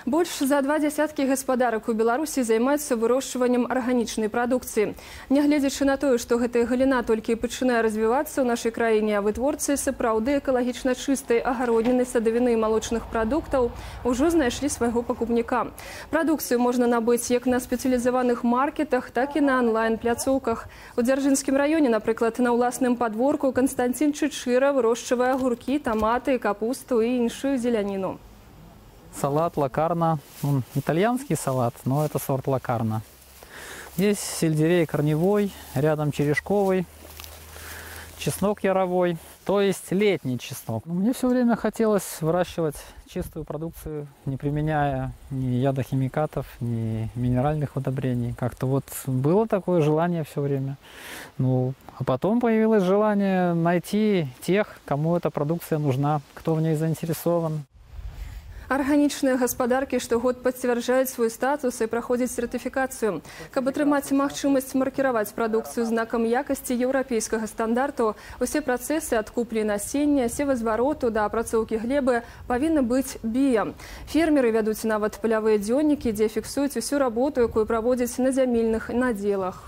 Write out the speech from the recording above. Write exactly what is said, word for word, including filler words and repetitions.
Больш за два дзясяткі гаспадарак у Беларусі займаюцца вырошчваннем арганічнай прадукцыі. Нягледзячы на тое, што гэтая галіна толькі пачынае развівацца ў нашай краіне, а вытворцы сапраўды экалагічна чыстай агародніны, садавіны і малочных прадуктаў ужо знайшлі свайго пакупніка. Прадукцыю можна набыць як на спецыялізаваных маркетах, так і на онлайн-пляцоўках. У Дзяржынскім раёне, напрыклад, на ўласным падворку Канстанцін Чычыра вырошчвае агуркі, таматы, капусту і іншую зеляніну. Салат лакарна, он итальянский салат, но это сорт лакарна. Здесь сельдерей корневой, рядом черешковый, чеснок яровой, то есть летний чеснок. Мне все время хотелось выращивать чистую продукцию, не применяя ни ядохимикатов, ни минеральных удобрений. Как-то вот было такое желание все время. Ну, а потом появилось желание найти тех, кому эта продукция нужна, кто в ней заинтересован. Арганічныя гаспадаркі штогод пацвярджаюць свой статус і праходзяць сертыфікацыю. Каб атрымаць магчымасць маркіраваць прадукцыю знакам якасці еўрапейскага стандарту, усе працэсы ад куплі насення, севазвароту да апрацоўкі глебы павінны быць бія. Фермеры вядуць нават палявыя дзённікі, дзе фіксуюць усю работу, якую праводзяць на зямельных надзелах.